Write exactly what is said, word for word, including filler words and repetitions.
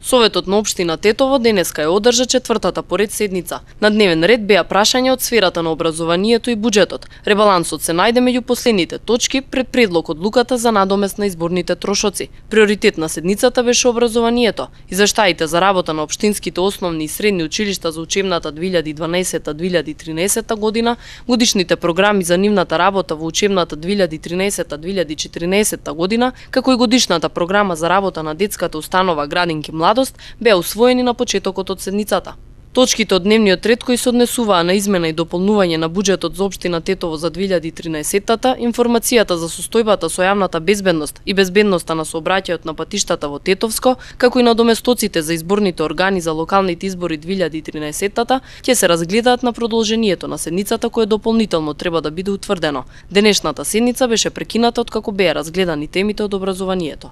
Советот на општина Тетово денеска ја одржа четвртата поред седница. На дневен ред беа прашања од сферата на образованието и буџетот. Ребалансот се најде меѓу последните точки пред предлог одлуката за надомест на изборните трошоци. Приоритет на седницата беше образованието. Извештаите за работа на општинските основни и средни училишта за учебната две илјади и дванаесетта две илјади и тринаесетта година, годишните програми за нивната работа во учебната две илјади и тринаесетта две илјади и четиринаесетта година, како и годишната програма за работа на детската установа Градинки младост беа усвоени на почетокот од седницата. Точките од дневниот ред кои се однесуваа на измена и дополнување на буџетот за општина Тетово за две илјади и тринаесетта, информацијата за состојбата со јавната безбедност и безбедноста на сообраќајот на патиштата во Тетовско, како и на доместоците за изборните органи за локалните избори две илјади и тринаесетта, ќе се разгледаат на продолжението на седницата кое дополнително треба да биде утврдено. Денешната седница беше прекината откако беа разгледани темите од образованието.